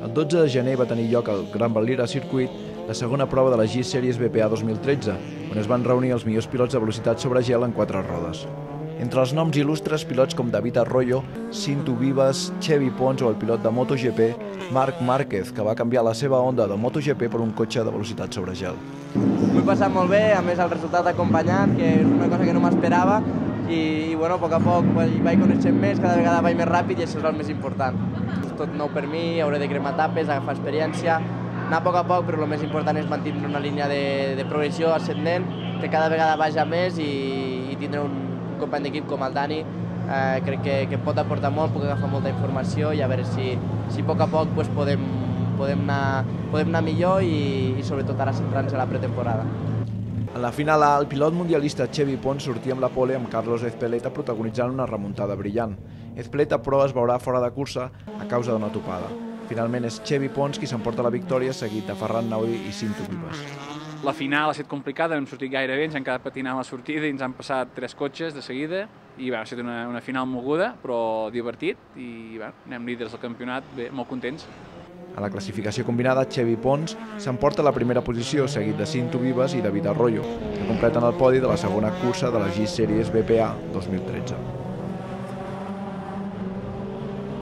El 12 de gener va tenir lloc al Gran Valira Circuit la segona prova de la G-Series BPA 2013, on es van reunir els millors pilots de velocitat sobre gel en 4 rodes. Entre els noms il·lustres, pilots com David Arroyo, Cinto Vivas, Xevi Pons o el pilot de MotoGP, Marc Márquez, que va canviar la seva Honda de MotoGP per un cotxe de velocitat sobre gel. M'ho he passat molt bé, a més el resultat ha acompanyat, que és una cosa que no m'esperava, i bueno, a poc vaig coneixent més, cada vegada vaig més ràpid i això és el més important. És tot nou per mi, hauré de cremar etapes, agafar experiència, anar a poc, però el més important és mantenir una línia de progressió ascendent, que cada vegada vaja més i tindre un company d'equip com el Dani, crec que pot aportar molt, puc agafar molta informació i a veure si a poc podem anar millor i sobretot ara centrant-nos a la pretemporada. En la final A, el pilot mundialista Xevi Pons sortia amb la pole amb Carlos Ezpeleta protagonitzant una remuntada brillant. Ezpeleta, però, es veurà fora de cursa a causa d'una topada. Finalment és Xevi Pons qui s'emporta la victòria, seguit de Ferran Naudi i Cinto Vivas. La final ha estat complicada, no hem sortit gaire bé, ens han quedat patinant a la sortida i ens han passat 3 cotxes de seguida i ha estat una final moguda, però divertit i anem líders del campionat, bé, molt contents. A la classificació combinada, Xevi Pons s'emporta la primera posició, seguit de Cinto Vivas i David Arroyo, que completen el podi de la segona cursa de la G-Series BPA 2013.